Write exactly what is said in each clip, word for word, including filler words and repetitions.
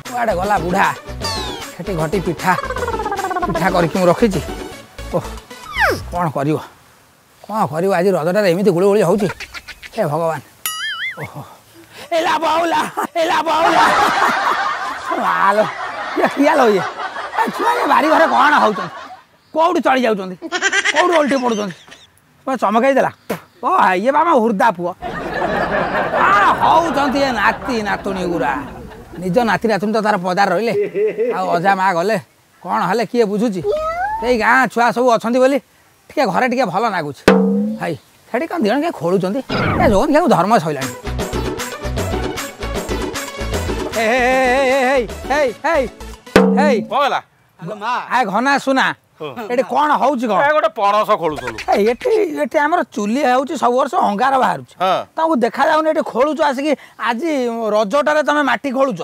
କୁଆଡ଼େ ଗଲା ବୁଢ଼ା? ସେଠି ଘଟି ପିଠା ପିଠା କରିକି ମୁଁ ରଖିଛି। ଓହ, କ'ଣ କରିବ, କ'ଣ କରିବ? ଆଜି ରଜଟାରେ ଏମିତି ଗୁଳି ଗୁଳି ହେଉଛି, ହେ ଭଗବାନ। ଓହୋ, ଏଲା ବାଉଲା, ଏଲା ବାଉଲା ଆଲୋ, ଇଏ କିଆ ଲୋ? ଇଏ ଛୁଆ ଇଏ ବାରି ଘରେ କ'ଣ ହେଉଛନ୍ତି? କୋଉଠି ଚଳି ଯାଉଛନ୍ତି, କୋଉଠି ଓଲଟି ପଡ଼ୁଛନ୍ତି, ଚମକେଇ ଦେଲା। ଓ, ଇଏ ବା ଆମ ହୃଦା ପୁଅ। କ'ଣ ହଉଛନ୍ତି ଏ ନାତି ନାତୁଣୀ ଗୁରା? ନିଜ ନାତି ନାତୁଣୀ ତ ତାର ପଦାରେ ରହିଲେ, ଆଉ ଅଜା ମା ଗଲେ କ'ଣ ହେଲେ କିଏ ବୁଝୁଛି? ସେଇ ଗାଁ ଛୁଆ ସବୁ ଅଛନ୍ତି ବୋଲି ଟିକେ ଘରେ ଟିକେ ଭଲ ଲାଗୁଛି। ଭାଇ, ସେଠି କ'ଣ ଦୁଇ ଜଣ କିଏ ଖୋଳୁଛନ୍ତି? ଏ ଯୋଉ ଧର୍ମ ସଇଲାଣି। ଘନା ସୁନା, ଏଠି କ'ଣ ହଉଛି? କଣ ଗୋଟେ ପଣସ ଖୋଳୁଥିଲୁ ଏଠି? ଏଠି ଆମର ଚୁଲି ହେଉଛି, ସବୁ ବର୍ଷ ଅଙ୍ଗାର ବାହାରୁଛି, ତମକୁ ଦେଖାଯାଉନି? ଏଠି ଖୋଳୁଛ ଆସିକି ଆଜି ରଜଟାରେ ତମେ ମାଟି ଖୋଳୁଛ,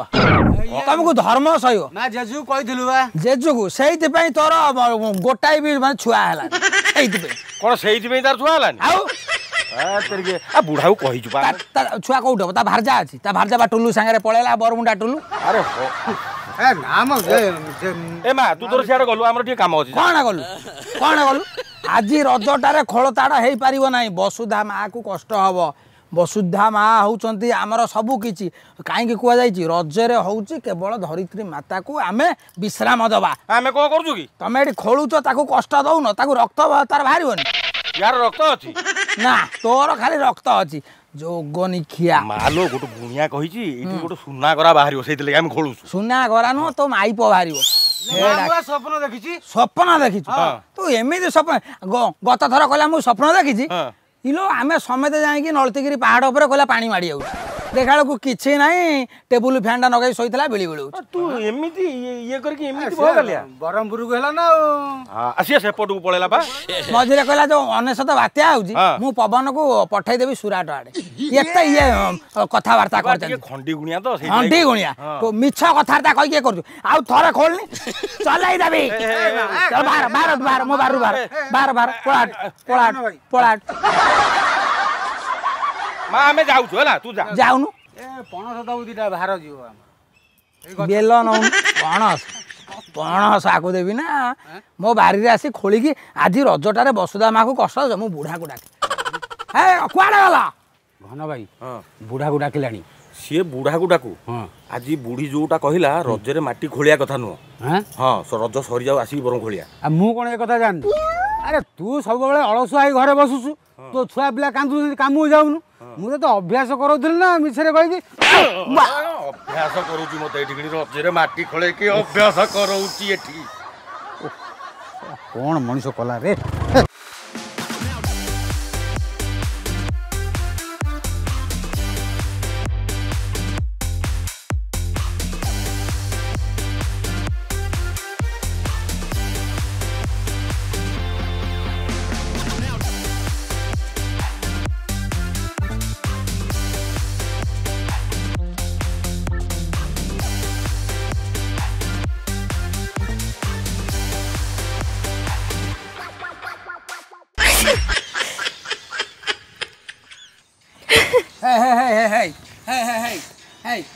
ତମକୁ ଧର୍ମ ସହିବ? ଜେଜୁକୁ କହିଥିଲୁ ବା, ଜେଜୁକୁ। ସେଇଥିପାଇଁ ତୋର ଗୋଟାଏ ବି ମାନେ ଛୁଆ ହେଲା, ସେଇଥିପାଇଁ। କଣ ସେଇଥିପାଇଁ ତାର ଛୁଆ ହେଲାନି? ଆଉ ବୁଢାକୁ କହିଛୁ, ଛୁଆ କୋଉଠି ହବ? ତା ଭାରଜା ଅଛି, ତା ଭାରଜା ବା ଟୁଲୁ ସାଙ୍ଗରେ ପଳେଇଲା, ବରମୁଣ୍ଡା ଟୁଲୁ। ଆରେ ଏ ମା, ତୁ ତୋର ସିଆଡ଼େ ଗଲୁ, ଆମର ଟିକେ କାମ ଅଛି। କଣ ଗଲୁ, କଣ ଗଲୁ? ଆଜି ରଜଟାରେ ଖୋଳତାଡ଼ ହେଇପାରିବ ନାହିଁ, ବସୁଧା ମାକୁ କଷ୍ଟ ହବ। ବସୁଧା ମା ହେଉଛନ୍ତି ଆମର ସବୁ କିଛି। କାହିଁକି କୁହାଯାଇଛି ରଜରେ ହେଉଛି କେବଳ ଧରିତ୍ରୀ ମାତାକୁ ଆମେ ବିଶ୍ରାମ ଦେବା। ଆମେ କଣ କରୁଛୁ କି? ତମେ ଏଠି ଖୋଳୁଛ, ତାକୁ କଷ୍ଟ ଦଉନ? ତାକୁ ରକ୍ତ ତାର ବାହାରିବନି? ୟାର ରକ୍ତ ଅଛି ନା? ତୋର ଖାଲି ରକ୍ତ ଅଛି, ଯୋଗନିଖିଆ। ମାଲୋ, ଗୋଟେ ଗୁଣିଆ କହିଛି ଏଇଠି ଗୋଟେ ସୁନା ଗରା ବାହାରିବ, ସେଇଥିଲାଗି ଆମେ ଖୋଳୁଛୁ। ସୁନା ଗରା ନୁହଁ, ତୋ ମାଇପ ବାହାରିବ। ସ୍ୱପ୍ନ ଦେଖିଛି। ସ୍ୱପ୍ନ ଦେଖିଛୁ ତୁ? ଏମିତି ସ୍ୱପ୍ନ ଗତ ଥର କହିଲା ମୁଁ ସ୍ୱପ୍ନ ଦେଖିଛି ଇଲୋ, ଆମେ ସମେତେ ଯାଇକି ନଳତିଗିରି ପାହାଡ଼ ଉପରେ, କହିଲା ପାଣି ମାଡ଼ି ଯାଉଛି। ଦେଖିଲା ବେଳକୁ କିଛି ନାହିଁ, ଟେବୁଲ ଫ୍ୟାନ୍ଟା ଲଗେଇ ଶୋଇଥିଲା, ବିଳି ବିଳି। ତୁ ଏମିତି ଇଏ କରିକି ଏମିତି ବ୍ରହ୍ମପୁରକୁ ହେଲା ନା? ଆଉ ସିଏ ସେପଟକୁ ପଳେଇଲା ବା। ମଝିରେ କହିଲା ଯୋଉ ଅନେଶତ ବାତ୍ୟା ହଉଛି, ମୁଁ ପବନକୁ ପଠେଇଦେବି ସୁରାଟ ଆଡେ। ଏତେ ଇଏ କଥାବାର୍ତ୍ତା କରିଛନ୍ତି। ଖଣ୍ଡି ଗୁଣିଆ ତ, ଖଣ୍ଡି ଗୁଣିଆ, ମିଛ କଥାବାର୍ତ୍ତା କହିକି ଇଏ କରୁଛୁ। ଆଉ ଥରେ ଖୋଲନି, ଚଲେଇ ଦେବି। ବାହାର ବାହାର ବାହାର, ମୋ ବାହାରୁ ବାହାର ବାହାର ବାହାର, ପଳା ପଳା ପଳା। ମା, ଆମେ ଯାଉଛୁ, ହେଲା, ତୁ ଯା। ଯାଉନୁ। ଏ ପଣସ ଦବୁ ଦିଟା, ବାହାର ଯିବ। ବେଲ ନଉନୁ। ପଣସ ପଣସ ଆକୁ ଦେବି ନା? ମୋ ବାରିରେ ଆସି ଖୋଳିକି ଆଜି ରଜଟାରେ ବସୁଧା ମାକୁ କଷ୍ଟ। ମୁଁ ବୁଢ଼ାକୁ ଡାକେ। ହେ, କୁଆଡ଼େ ଗଲା ଘନ ଭାଇ? ବୁଢ଼ାକୁ ଡାକିଲାଣି ସିଏ, ବୁଢ଼ାକୁ ଡାକୁ। ଆଜି ବୁଢ଼ୀ ଯୋଉଟା କହିଲା, ରଜରେ ମାଟି ଖୋଳିଆ କଥା ନୁହଁ। ହଁ, ରଜ ସରିଯାଉ, ଆସିକି ବରଂ ଖୋଳିଆ। ଆଉ ମୁଁ କ'ଣ ଏ କଥା ଜାଣିନି? ଆରେ ତୁ ସବୁବେଳେ ଅଳସୁଆ ହେଇ ଘରେ ବସୁଛୁ, ତୋ ଛୁଆ ପିଲା କାନ୍ଦୁଛନ୍ତି, କାମକୁ ଯାଉନୁ। ମୁଁ ତ ଅଭ୍ୟାସ କରାଉଥିଲି ନା ମିଛରେ କହିକି। ଅଭ୍ୟାସ କରୁଛି ମତେ ଏଠି, ରଜରେ ମାଟି ଖୋଳେଇକି ଅଭ୍ୟାସ କରାଉଛି ଏଠି। କ'ଣ ମଣିଷ କଲା ରେ?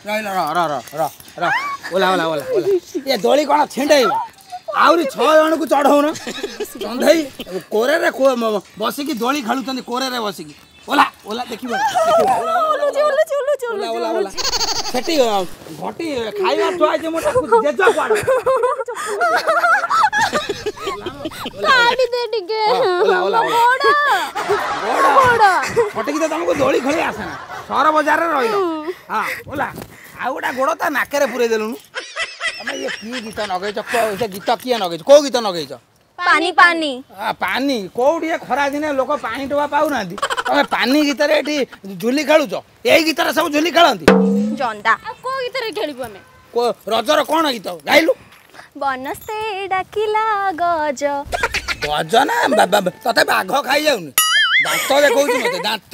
ରହିଲ, ର ର ର ର ର, ଓଲା ଓଲା ଓଲା ଓଲା। ଏ ଦୋଳି କ'ଣ ଛିଣ୍ଡେଇବ? ଆହୁରି ଛଅ ଜଣକୁ ଚଢ଼ଉନ। ଚନ୍ଧେଇ କୋରରେ ବସିକି ଦୋଳି ଖେଳୁଛନ୍ତି, କୋରରେ ବସିକି। ଓଲା ଓଲା, ଦେଖିବ। ଓଲା ଓଲା, ସେଠି ଘଟି ଖାଇବା ଥୁଆ ହେଇଛି, ମୁଁ ଜେଜ କୁଆଡ଼େ? କାଢି ଦେ ଟିକେ। ଫଟିକି ତ ତମକୁ ଦୋଳି ଖେଳି ଆସେନା, ସହର ବଜାରରେ ରହିଲ। ହଁ, ଓଲା। ଆଉ ଗୋଟେ ଗୋଡ଼ ତା ନାକରେ ପୁରେଇ ଦେଲୁନୁ। ତମେ ଇଏ କି ଗୀତ ନଗେଇଛ? ସେ ଗୀତ କିଏ ନଗେଇଛ? କୋଉ ଗୀତ ନଗେଇଛ? ପାନି ପାନି ପାନି। କୋଉଠି ଏ ଖରା ଦିନେ ଲୋକ ପାଣି ଟୋପା ପାଉନାହାନ୍ତି, ତମେ ପାନି ଗୀତରେ ଏଠି ଝୁଲି ଖେଳୁଛ? ଏଇ ଗୀତରେ ସବୁ ଝୁଲି ଖେଳନ୍ତି? ଜନ୍ଦା, ଆଉ କୋଉ ଗୀତରେ ଖେଳିବୁ ଆମେ? ରଜର କ'ଣ ଗୀତ ଗାଇଲୁ? ବନସ୍ତେ ଡାକିଲା ଗଜ। ଗଜ ନା ତତେ ବାଘ ଖାଇଯାଉନି? ଦାନ୍ତ ଦେଖଉଛି ମତେ ଦାନ୍ତ।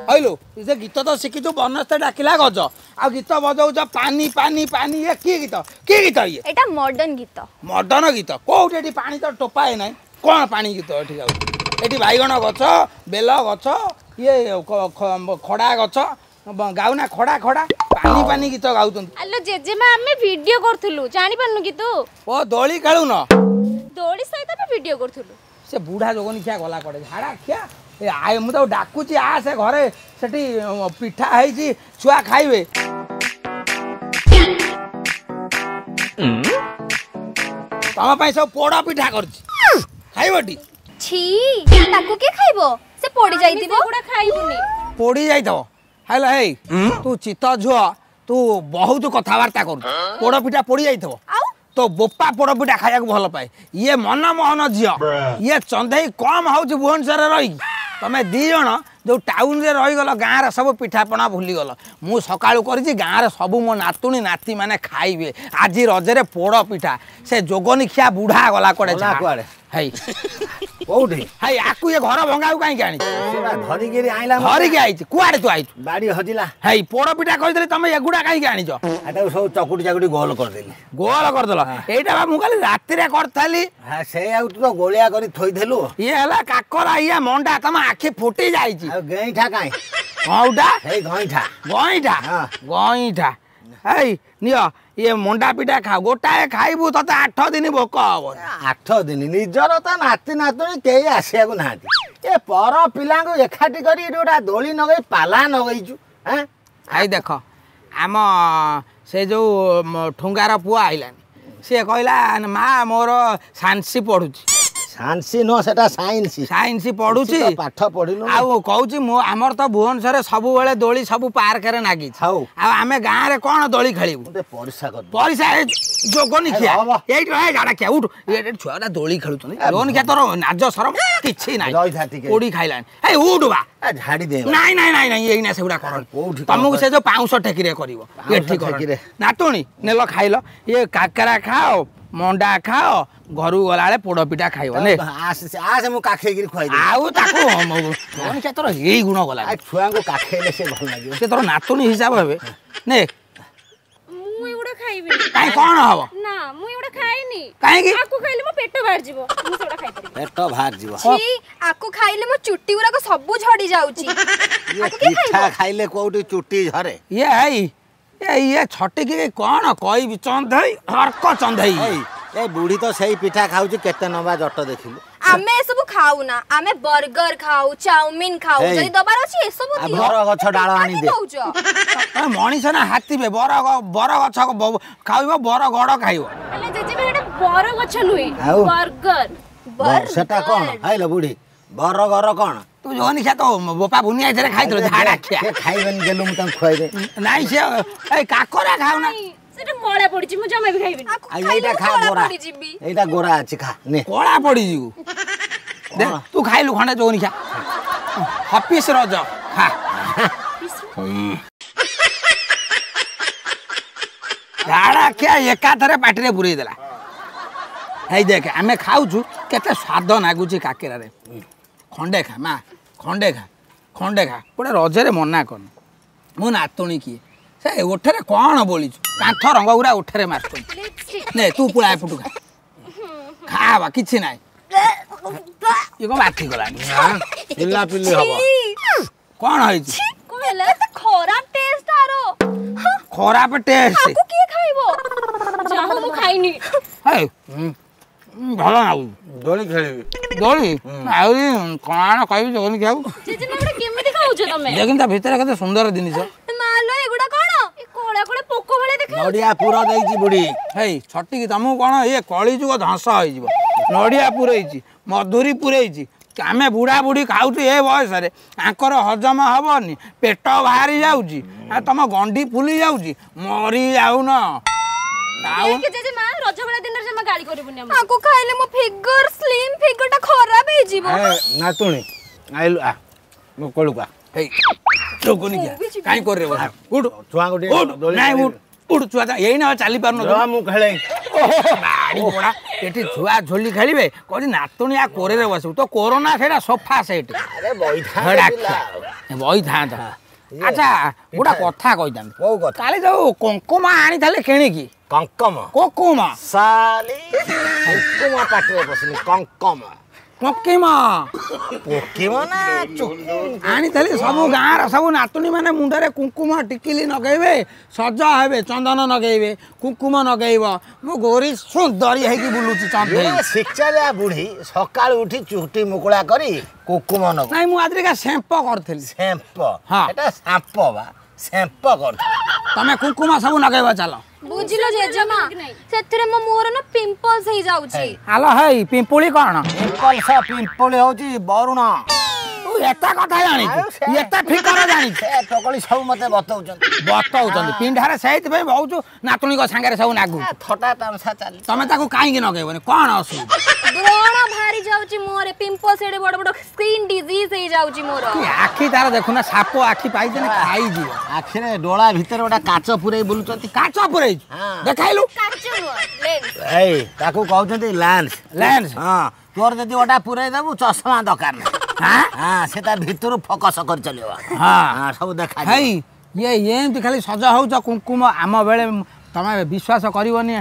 କହିଲୁ, ସେ ଗୀତ ତ ଶିଖିଛୁ, ବନସ୍ତେ ଡାକିଲା ଗଜ, ଆଉ ଗୀତ ବଜଉଛ ପାନି ପାନି ପାନି। ଇଏ କି ଗୀତ? କି ଗୀତ ଇଏ? ଏଇଟା ମଡର୍ନ ଗୀତ। ମଡର୍ନ ଗୀତ କୋଉଠି? ଏଠି ପାଣି ତ ଟୋପାଏ ନାହିଁ, କ'ଣ ପାଣି ଗୀତ ଏଠି ଗାଉଛି? ଏଠି ବାଇଗଣ ଗଛ, ବେଲ ଗଛ, ଇଏ ଖଡ଼ା ଗଛ ଗାଉନା ଖଡ଼ା ଖଡ଼ା ପାନି ପାନି ଗୀତ ଗାଉଛନ୍ତି। ଆଲୋ ଜେଜେମା, ଆମେ ଭିଡିଓ କରୁଥିଲୁ, ଜାଣିପାରୁନୁ କି ତୁ? ଓ ଦୋଳି ଖେଳୁନ? ଦୋଳି ସହିତ ଆମେ ଭିଡିଓ କରୁଥିଲୁ। ସେ ବୁଢ଼ା ଯୋଗନି ଖିଆ ଗଲା କୁଆଡ଼େ? ଝାଡ଼ା ଖିଆ ଏ ଆୟ, ମୁଁ ତାକୁ ଡାକୁଛି ଆ, ସେ ଘରେ ସେଠି ପିଠା ହେଇଛି, ଛୁଆ ଖାଇବେ। ତମ ପାଇଁ ସବୁ ପୋଡ଼ ପିଠା କରିଛି, ଖାଇବଟି? ଛି, ତାକୁ କିଏ ଖାଇବ? ସେ ପୋଡ଼ି ଯାଇଥିବ। ଖାଇବୁନି, ପୋଡ଼ି ଯାଇଥିବ। ହେଲା ହେଇ, ତୁ ଚିତ ଝୁଅ, ତୁ ବହୁତ କଥାବାର୍ତ୍ତା କରୁଛୁ। ପୋଡ଼ ପିଠା ପୋଡ଼ି ଯାଇଥିବ? ତୋ ବୋପା ପୋଡ଼ ପିଠା ଖାଇବାକୁ ଭଲ ପାଏ। ଇଏ ମନମୋହନ ଝିଅ, ଇଏ ଚନ୍ଦେଇ କମ ହଉଛି ଭୁବନେଶ୍ୱରରେ ରହିକି। ତମେ ଦି ଜଣ ଯୋଉ ଟାଉନରେ ରହିଗଲ, ଗାଁର ସବୁ ପିଠାପଣା ଭୁଲିଗଲ। ମୁଁ ସକାଳୁ କରିଛି, ଗାଁରେ ସବୁ ମୋ ନାତୁଣୀ ନାତି ମାନେ ଖାଇବେ ଆଜି ରଜରେ ପୋଡ଼ ପିଠା। ସେ ଯୋଗନି ଖିଆ ବୁଢ଼ା ଗଲା କୁଆଡ଼େ? କୁଆଡ଼େ ହେଇ କୋଉଠି? ହେଇ, ଆକୁ ଇଏ ଘର ଭଙ୍ଗାକୁ କାହିଁକି ଆଣିଛି? ଧରିକିରି ଆଇଲା, ଧରିକି ଆଇଛି। କୁଆଡ଼େ ତୁ ଆଇଛୁ? ବାଡ଼ି ହଜିଲା। ହେଇ, ପୋଡ଼ ପିଠା କହିଥିଲି, ତମେ ଏଗୁଡ଼ା କାହିଁକି ଆଣିଛ? ଏଟାକୁ ସବୁ ଚକୁଟି ଚାକୁଟି ଗୋଲ କରିଦେଲି। ଗୋଲ କରିଦେଲ? ଏଇଟା ବା ମୁଁ କାଲି ରାତିରେ କରିଥିଲି। ସେଇଆକୁ ତୁ ତ ଗୋଳିଆ କରି ଥୋଇଦେଲୁ। ଇଏ ହେଲା କାକରା, ଇଏ ମଣ୍ଡା, ତମ ଆଖି ଫୁଟି ଯାଇଛି। ଆଉ ଗଇଁଠା କାଇଁ? କୋଉଟା? ହେଇ ଗଇଁଠା। ଗଇଁଠା, ଗଇଁଠା। ଏଇ ନିଅ, ଇଏ ମଣ୍ଡା ପିଠା ଖାଅ। ଗୋଟାଏ ଖାଇବୁ, ତତେ ଆଠ ଦିନ ଭୋକ ହବ। ଆଠ ଦିନ? ନିଜର ତ ନାତି ନାତୁଣୀ କେହି ଆସିବାକୁ ନାହାନ୍ତି, ଏ ପର ପିଲାଙ୍କୁ ଏକାଠି କରି ଏଠି ଗୋଟେ ଦୋଳି ନଗେଇ ପାଲା ନଗେଇଛୁ। I ଦେଖ, ଆମ ସେ ଯୋଉ ଠୁଙ୍ଗାର ପୁଅ ଆଇଲାନି, ସିଏ କହିଲା ମା ମୋର ସାନ୍ସି ପଢୁଛି। ସାଇନ୍ସ ନୁହଁ, ସେଟା ସାଇନ୍ସ। ସାଇନ୍ସ ପଢୁଛି, ପାଠ ପଢିନୁ। ଆଉ କହୁଛି ମୁଁ, ଆମର ତ ଭୁବନେଶ୍ୱରରେ ସବୁବେଳେ ଦୋଳି ସବୁ ପାର୍କରେ ନାଗିଛି, ହଉ ଆଉ ଆମେ ଗାଁରେ କ'ଣ ଦୋଳି ଖେଳିବୁ? ପରିସା ପରିସା ଯୋଗନି ଖିଆ, ଏଇଠି ରହ। ଝାଡ଼ା ଖିଆ, ଉଠୁ। ଛୁଆଟା ଦୋଳି ଖେଳୁଛନ୍ତି। ଯୋଗନି ଖିଆ, ତୋର ନାଜ ସରମ କିଛି ନାହିଁ, ପୋଡ଼ି ଖାଇଲାଣି। ଏଇ ଉଠୁ ବା, ଝାଡ଼ି ଦେ। ନାଇଁ ନାଇଁ ନାଇଁ ନାଇଁ, ଏଇନା ସେଗୁଡ଼ା କର। କୋଉଠି ତମକୁ ସେ ଯୋଉ ପାଉଁଶ ଠେକିରେ କରିବ, ଏଠି କର। ନାତୁଣୀ ନେଲ, ଖାଇଲ। ଇଏ କାକରା ଖାଅ, ମଣ୍ଡା ଖାଅ, ଘରକୁ ଗଲାବେଳେ ପୋଡ଼ ପିଠା ଖାଇବ। ନେ ଆସେ, ମୁଁ କାଖେଇକିରି ଖୁଆଇ। ଆଉ ତାକୁ ସେ ତୋର ଏଇ ଗୁଣ ଗଲା। ଛୁଆଙ୍କୁ କାଖେଇଲେ ସେ ଭଲ ଲାଗିବ। ସେ ତୋର ନାତୁଣୀ ହିସାବ ହେବେ। ନେ। ମୁଁ ଏଗୁଡ଼ା ଖାଇବିନି। କାଇଁ, କ'ଣ ହବ? ନା, ମୁଁ ଏଗୁଡ଼ା ଖାଇନି। କାହିଁକି? ଆକୁ ଖାଇଲେ ମୋ ପେଟ ବାହାରି ଯିବ, ମୁଁ ସେଗୁଡ଼ା ଖାଇପାରିବିନି। ପେଟ ବାହାରି ଯିବ? ଛି, ଆକୁ ଖାଇଲେ ମୋ ଚୁଟି ଗୁଡାକ ସବୁ ଝଡ଼ି ଯାଉଛି। ପିଠା ଖାଇଲେ କୋଉଠି ଚୁଟି ଝରେ? ଇଏ ହେଇ, ଏ ଇଏ ଛଟିକି କ'ଣ କହିବି, ଚନ୍ଧେଇ ହର୍କ ଚନ୍ଧେଇ। ଏ ବୁଢ଼ୀ ତ ସେଇ ପିଠା ଖାଉଛି, କେତେ ଲମ୍ବା ଜଟ ଦେଖିଲୁ। ଆମେ ଏସବୁ ଖାଉନା, ଆମେ ବର୍ଗର ଖାଉ, ଚାଉମିନ ଖାଉ। ଯଦି ଦବାର ଅଛି ଏସବୁ ଦିଅ। ବର ଗଛ ଡାଳ ଆଣି ଦେ। ମଣିଷ ନା ହାତୀବେ? ବର ବର ଗଛ ଖାଇବ, ବର ଗଡ଼ ଖାଇବ। ହେଲେ ଜେଜେମା, ଏଟା ବର ଗଛ ନୁହେଁ, ବର୍ଗର। ସେଟା କ'ଣ ଖାଇଲ ବୁଢ଼ୀ? ବରଗର କ'ଣ? ତୁ ଯୋଉନି ଖିଆ, ତ ବୋପା ବୁନିଆ ଏଥିରେ ଖାଇଥିଲୁ। ଝାଡ଼ା ଖିଆ ଖାଇବେନି, ଦେଲୁ ମୁଁ ତାଙ୍କୁ ଖୁଆଇଦେ। ନାଇଁ, ସେ ଏଇ କାକରା ଖାଉନା। ସେଟା ମଳା ପଡିଛି, ମୁଁ ଜମା ବି ଖାଇବିନି। ଆଉ ଏଇଟା ଖା, ଗୋରା, ଏଇଟା ଗୋରା ଅଛି, ଖା ନେ। କଳା ପଡିଯିବୁ। ଦେ, ତୁ ଖାଇଲୁ ଖଣ୍ଡେ। ଯୋଉନି ଖିଆ, ହଫିସ ରଜ ଖା। ଝାଡ଼ା ଖିଆ ଏକାଥରେ ପାଟିରେ ପୁରେଇ ଦେଲା। ହେଇ ଦେଖ, ଆମେ ଖାଉଛୁ, କେତେ ସ୍ୱାଦ ନାଗୁଛି କାକେରାରେ। ଖଣ୍ଡେ ଖା ମା, ଖଣ୍ଡେ ଖା, ଖଣ୍ଡେ ଖା। ଗୋଟେ ରଜରେ ମନା କରନି। ମୁଁ ନାତୁଣୀ କିଏ? ସେ ଓଠରେ କ'ଣ ବୋଳିଛୁ? କାନ୍ଥ ରଙ୍ଗ ଗୁଡ଼ା ଓଠରେ ମାରୁଛନ୍ତି। ନେ, ତୁ ପୁଳା ଏପଟୁ ଖା, ଖା ବା, କିଛି ନାହିଁ। ଇଏ କ'ଣ ବାନ୍ତି କଲାଣି? ପିଲାପିଲି ହବ। କ'ଣ ହେଇଛି? ଖରାପ ଟେଷ୍ଟ ଆର, ଖରାପ ଟେଷ୍ଟ। କିଏ ଖାଇବ? ମୁଁ ଖାଇନି। ହେଇ, ଭଲ ଲାଗୁଛି। ଦୋଳି ଖେଳିବି। ଦୋଳି ଆହୁରି କ'ଣ କହିବି ଯୋଗନି ଖାଇବୁ। କେମିତି ଖାଉଛ ତମେ? ଦେଖିନି ତା ଭିତରେ କେତେ ସୁନ୍ଦର ଜିନିଷ। ମାଲୋ, ଏଗୁଡ଼ା କ'ଣ? କଳା କଳା ପୋକ ଭଳିଆ ଦେଖା। ନଡ଼ିଆ ପୁର ଦେଇଛି ବୁଢ଼ୀ। ହେଇ ଛଟିକି, ତମକୁ କ'ଣ ଇଏ କଳିଯୁଗ ଧ୍ୱଂସ ହେଇଯିବ। ନଡ଼ିଆ ପୁରେଇଛି, ମଧୁରୀ ପୁରେଇଛି। ଆମେ ବୁଢ଼ା ବୁଢ଼ୀ ଖାଉଛୁ ଏ ବୟସରେ, ଆଙ୍କର ହଜମ ହବନି, ପେଟ ବାହାରି ଯାଉଛି, ଆଉ ତମ ଗଣ୍ଡି ଫୁଲି ଯାଉଛି, ମରି ଯାଉନ। ରଜ ଭଳିଆ ଦିନରେ ଜମା ଗାଳି କରିବୁନି। ଆକୁ ଖାଇଲେ ମୋ ଫିଗର, ସ୍ଲିମ୍ ଫିଗରଟା ଖରାପ ହେଇଯିବ। ନାତୁଣୀ ଆଇଲୁ, ଆ ମୋ କୋଳକୁ ଆ। ହେଇ ଯୋଗୁନି, କାଇଁ କରିରେ ବସା? ଉଠୁ ଛୁଆଙ୍କୁ ଟିକେ। ନାଇଁ, ଉଠ ଉଠ। ଛୁଆ ଏଇନା ଚାଲି ପାରୁନଥିବ, ମୁଁ ଖେଳେ। ବାଡ଼ି ପଡ଼ା, ଏଠି ଛୁଆ ଝୋଲି ଖେଳିବେ। କହୁଛି ନାତୁଣୀ ଆ କୋରରେ ବସିବୁ। ତ କୋରୋନା ସେଇଟା ସୋଫା ସେଟ୍ ବଇଥାନ୍ତା। ଆଚ୍ଛା, ଗୋଟେ କଥା କହିଥାନ୍ତି। କୋଉ କଥା? କାଲି ଯୋଉ କଙ୍କୁମା ଆଣିଥିଲେ କିଣିକି। କଙ୍କମ? କୁକୁମା। ସାଲି, କୁକୁମା ପାଟିରେ ପଶିନି, କଙ୍କମ। ପୋକିମ ପୋକିମ ନା ଚୁକୁ ଆଣିଥିଲି। ସବୁ ଗାଁର ସବୁ ନାତୁଣୀ ମାନେ ମୁଣ୍ଡରେ କୁଙ୍କୁମ ଟିକିଲି ନଗେଇବେ, ସଜ ହେବେ, ଚନ୍ଦନ ନଗେଇବେ, କୁଙ୍କୁମ ନଗେଇବ। ମୁଁ ଗୋରି ସୁନ୍ଦରୀ ହେଇକି ବୁଲୁଛି ଚନ୍ଦେଇ। ଶିକ୍ଷାଲିଆ ବୁଢୀ ସକାଳୁ ଉଠି ଚୁଟି ମୁକୁଳା କରି କୁକୁମ ନଗଉ। ନାଇଁ, ମୁଁ ଆଜିକା ସେମ୍ପ କରିଥିଲି। ସେମ୍ପ? ହଁ। ଏଟା ସାମ୍ପ ବା, ସେମ୍ପ କରିଥିଲି। ତମେ କୁଙ୍କୁମ ସବୁ ନଗେଇବ, ଚାଲ। ବୁଝିଲ ଜେଜେମା, ସେଥିରେ ମୋ ମୁହଁରେ ନା ପିମ୍ପଲ୍ସ ହେଇଯାଉଛି। ଆଲୋ ହେଇ, ପିମ୍ପୁଳି କଣ? ପିମ୍ପଲ୍ସ ପିମ୍ପୁଳି ହଉଛି ବରୁଣ। ତୁ ଏତେ କଥା ଜାଣିଛୁ? ଆଉ ସେ- ଏତେ ଫିକର ଜାଣିଛୁ? ସେ ଟକଳି ସବୁ ମତେ ବତଉଛନ୍ତି। ବତଉଛନ୍ତି ପିଣ୍ଡାରେ, ସେଇଥିପାଇଁ ବହୁତ ନାତୁଣୀଙ୍କ ସାଙ୍ଗରେ ସବୁ ନାଗୁ। ଏ ଥଟା ତାମସା ଚାଲି। ତମେ ତାକୁ କାହିଁକି ନଗେଇବନି? କଣ ଅସୁବିଧା? ବ୍ରଣ ବାହାରି ଯାଉଛି ମୁହଁରେ, ପିମ୍ପଲ୍ସ ଏଡେ ବଡ ବଡ, ସ୍କିନ୍ ଡିଜିଜ ହେଇଯାଉଛି ମୋର। କି ଆଖି ତାର ଦେଖୁନା, ସାପ ଆଖି ପାଇଛନ୍ତି, ଖାଇଯିବ। ଆଖିରେ ଡୋଳା ଭିତରେ ଗୋଟେ କାଚ ପୁରେଇ ବୁଲୁଛନ୍ତି। କାଚ ପୁରେଇଛୁ? ହଁ। ଦେଖାଇଲୁ। କାଚ ନୁହଁ, ଲେନ୍ସ। ଏଇ ତାକୁ କହୁଛନ୍ତି ଲେନ୍ସ। ଲେନ୍ସ। ହଁ, ତୋର ଯଦି ଗୋଟା ପୁରେଇ ଦେବୁ, ଚଷମା ଦରକାର ନାହିଁ। ହଁ। ହଁ, ସେ ତା ଭିତରୁ ଫୋକସ କରି ଚାଲିବ। ହଁ। ହଁ, ସବୁ ଦେଖା। ହେଇ, ଇଏ ଏମିତି ଖାଲି ସଜ ହଉଛ କୁଙ୍କୁମ। ଆମ ବେଳେ ତମେ ବିଶ୍ୱାସ କରିବନି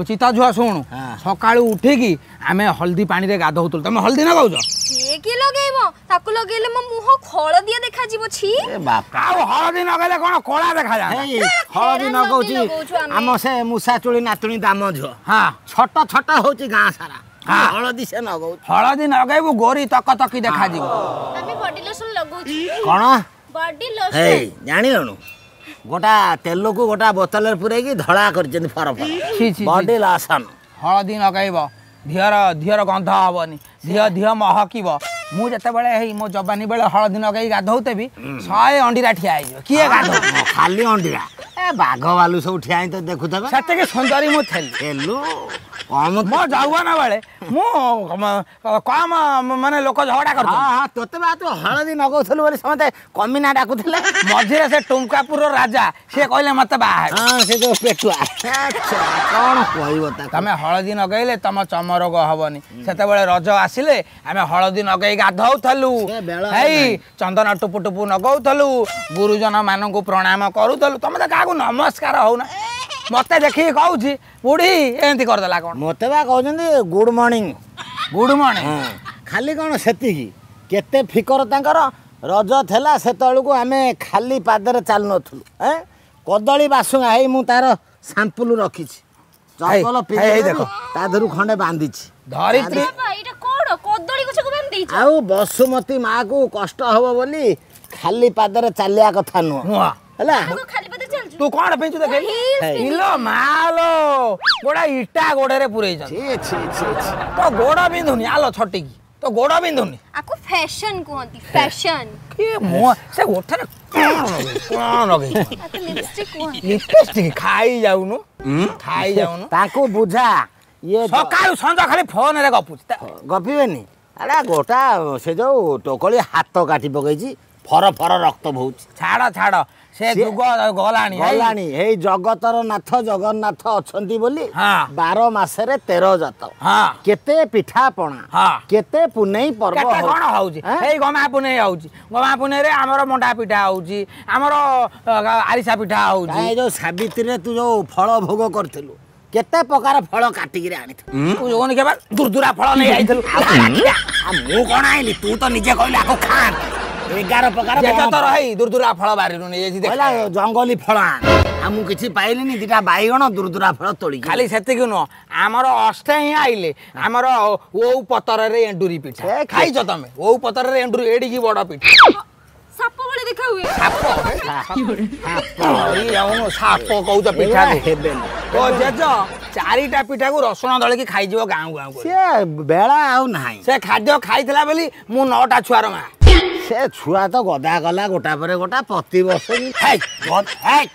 ଚିତା ଝୁଅ, ଶୁଣୁ। ହଁ। ସକାଳୁ ଉଠିକି ଆମେ ହଳଦୀ ପାଣିରେ ଗାଧଉଥିଲୁ। ତମେ ହଳଦୀ ନଗଉଛ? ସିଏ କିଏ ଲଗେଇବ? ତାକୁ ଲଗେଇଲେ ମୋ ମୁହଁ ହଳଦିଆ ଦେଖାଯିବ, ଛି। ଏ ବାପା। ଆଉ ହଳଦୀ ନଗେଇଲେ କଣ କଳା ଦେଖାଯାଏ? ହେଇ, ହଳଦୀ ଫେରାନ ନଗଉଛି ଲଗଉଛୁ ଆମେ। ଆମ ସେ ମୂଷା ଚୁଳି ନାତୁଣୀ ଦାମ ଝିଅ ହଁ, ଛଟ ଛଟ ହଉଛି ଗାଁ ସାରା। ହଁ। ହଳଦୀ ସେ ନଗଉଛି। ହଳଦୀ ନଗେଇବୁ, ଗୋରି ତକ ତକି ଦେଖାଯିବ। ଆମେ ବଡି ଲୋସନ ଲଗାଉଛୁ। କଣ? ବଡି। ହେଇ, ଜାଣିଲୁଣୁ, ଗୋଟା ତେଲକୁ ଗୋଟା ବୋତଲରେ ପୁରେଇକି ଧଳା କରିଛନ୍ତି ଫର ଫର। ଛି ଛି ଛି। Body lotion. ହଳଦୀ ନଗେଇବ, ଧିଅର ଧିଅର ଗନ୍ଧ ହବନି, ଧିଅ ଧିଅ ମହକିବ। ମୁଁ ଯେତେବେଳେ ହେଇ ମୋ ଯବାନୀ ବେଳେ ହଳଦୀ ନଗେଇ ଗାଧଉଥିବି, ଶହେ ଅଣ୍ଡିରା ଠିଆ ହେଇଯିବ, କିଏ ଗାଧଉ? ଖାଲି ଅଣ୍ଡିରା, ଏ ବାଘ ଭାଲୁ ସବୁ ଠିଆ ହେଇ ତ ଦେଖୁଥିବେ। ସେତିକି ସୁନ୍ଦରୀ ମୁଁ ଥିଲି। ତେଲୁ କମ। ମୋ ଯୌବନ ବେଳେ ମୁଁ କମ ମାନେ ଲୋକ ଝଗଡ଼ା ହଁ କରୁଛନ୍ତି। ହଁ, ତୋତେ ବା ତୁ ହଳଦୀ ନଗଉଥିଲୁ ବୋଲି ସମସ୍ତେ କମିନା ଡାକୁଥିଲେ। ମଝିରେ ସେ ଟୁମକାପୁରର ରାଜା, ସିଏ କହିଲେ ମତେ ବାହା ହେବେ। ହଁ, ସେ ଯୋଉ ପେଟୁଆ। ଆଚ୍ଛା, କଣ କହିବ ତାକୁ? ତମେ ହଳଦୀ ନଗେଇଲେ ତମ ଚମ ରୋଗ ହବନି। ସେତେବେଳେ ରଜ ଆସିଲେ ଆମେ ହଳଦୀ ନଗେଇ ଗାଧଉଥିଲୁ। ସେ ବେଳ ଆଉ ହେଇ ନାହିଁ। ଚନ୍ଦନ ଟୁପୁ ଟୁପୁ ନଗଉଥିଲୁ, ଗୁରୁଜନ ମାନଙ୍କୁ ପ୍ରଣାମ କରୁଥିଲୁ। ତମେ ତ କାହାକୁ ନମସ୍କାର ହଉନା। ମତେ ଦେଖିକି କହୁଛି ବୁଢୀ, ଏମିତି କରିଦେଲା କଣ? ମତେ ବା କହୁଛନ୍ତି ଗୁଡ ମର୍ଣ୍ଣିଂ। Good morning. ଖାଲି କଣ ସେତିକି, କେତେ ଫିକର ତାଙ୍କର। ରଜ ଥିଲା ସେତେବେଳକୁ ଆମେ ଖାଲି ପାଦରେ ଚାଲୁନଥିଲୁ। ଏଁ କଦଳୀ ବାସୁଙ୍ଗା, ହେଇ ମୁଁ ତାର ସାମ୍ପୁଲ ରଖିଛି। ଚପଲ ହେଇ, ହେଇ, ପିନ୍ଧି ଦେଖ। ତା ଦେହରୁ ଖଣ୍ଡେ ବାନ୍ଧିଛି। ଧରିତ୍ରୀ। ବାବା, ଏଇଟା କଣ? କଦଳୀ ଗଛକୁ ବାନ୍ଧି ଦେଇଛ? ଆଉ ବସୁମତୀ ମାକୁ କଷ୍ଟ ହବ ବୋଲି ଖାଲି ପାଦରେ ଚାଲିବା କଥା ନୁହଁ। ନୁହଁ। ହେଲା। ତୁ ଖାଲି ପାଦରେ ଚାଲୁଛୁ? ତୁ କଣ ପିନ୍ଧୁ ଦେଖେ। ହିଲ୍ସ। ଇଲୋ ମାଲୋ, ଗୋଟା ଇଟା ଗୋଡରେ ପୁରେଇଛନ୍ତି। ଛି ଛି ଛି ଛି। ତୋ ଗୋଡ ବିନ୍ଧୁନି? ଆଲୋ ଛଟିକି, ତୋ ଗୋଡ ବିନ୍ଧୁନି? ଆକୁ ଫ୍ୟାସନ କୁହନ୍ତି, ଫ୍ୟାସନ। କିଏ ମୁହଁ ସେ ଓଠରେ କଣ ଲଗେଇ, କଣ ଲଗେଇଛି? ଆକୁ ଲିପଷ୍ଟିକ କୁହନ୍ତି। ଲିପଷ୍ଟିକ। ଖାଇ ଯାଉନୁ, ଖାଇ ଯାଉନୁ। ତାଙ୍କୁ ବୁଝା ଇଏ। ସକାଳୁ ସଞ୍ଜ ଖାଲି ଫୋନରେ ଗପୁଛି ତା- ଗପିବେନି? ଆରେ ଗୋଟା ସେ ଯୋଉ ଟୋକଳି ହାତ କାଟି ପକେଇଛି, ଫର ଫର ରକ୍ତ ବହୁଛି। ଛାଡ ଛାଡ, ସେ ସିଏ- ଯୁଗ ଗଲାଣି। ଏଇ, ଗଲାଣି। ଏଇ ଜଗତର ନାଥ ଜଗନ୍ନାଥ ଅଛନ୍ତି ବୋଲି ହଁ। ବାର ମାସରେ ତେର ଜାତ, ହଁ କେତେ ପିଠା ପଣା, ହଁ। କେତେ ପୁନେଇ ପର୍ବ କେତେ ହଉଛି। କଣ ହଉଛି। ଏଁ? ଏଇ ଗମା ପୁନେଇ ହଉଛି, ଗମା ପୁନେଇରେ ଆମର ମଣ୍ଡା ପିଠା ହଉଛି, ଆମର ଅ, ଆରିସା ପିଠା ହଉଛି। କାଇଁ, ଏ ଯୋଉ ସାବିତ୍ରୀରେ ତୁ ଯୋଉ ଫଳ ଭୋଗ କରିଥିଲୁ, କେତେ ପ୍ରକାର ଫଳ କାଟିକିରି ଆଣିଥିଲୁ। ତୁ ଯୋଉନି କେବେ ଦୁର୍ଦୁରା ଫଳ ନେଇ ଯାଇଥିଲୁ। ଆଉ ମୁଁ କଣ ଆଣିଲି? ତୁ ତ ନିଜେ କହିଲୁ ଆକୁ ଖାଆନ୍ତି, ଏଗାର ପ୍ରକାର ଯେତେ ବଣ ତୋର ହେଇ ଦୁର୍ଦୁରା ଫଳ ବାରିରୁ ନେଇଯାଇଛି ଦେଖ। କହିଲା ଜଙ୍ଗଲୀ ଫଳ ଆଣ, ଆଉ ମୁଁ କିଛି ପାଇଲିନି, ଦିଟା ବାଇଗଣ ଦୁର୍ଦୁରା ଫଳ ତୋଳିକି। ଖାଲି ସେତିକି ନୁହଁ, ଆମର ଅଷ୍ଟମୀ ଆଇଲେ ଆମର ଓଉ ପତରରେ ଏଣ୍ଡୁରି ପିଠା। ସେ କି- ଖାଇଛ ତମେ ଓଉ ପତରରେ ଏଣ୍ଡୁରି? ଏଡିକି ବଡ ପିଠା। ସାପ ଭଳି ଦେଖା ହୁଏ। ସାପ ଏଇ ଯାଉନୁ, ସାପ କହୁଛ ପିଠାକୁ? ଏଗୁଡ଼ା ହେବେନି। ତୋ ଜେଜ ଚାରିଟା ପିଠାକୁ ରସୁଣ ଦଳିକି ଖାଇଯିବ ଗାଁ ଗାଁ କରି। ସେ ବେଳା ଆଉ ନାହିଁ। ସେ ଖାଦ୍ୟ ଖାଇଥିଲା ବୋଲି ମୁଁ ନଅଟା ଛୁଆର ମା। ସେ ଛୁଆ ତ ଗଦା ଗଲା ଗୋଟା ପରେ ଗୋଟା ପ୍ରତିବର୍ଷ। ହେଇ, ହେଇ,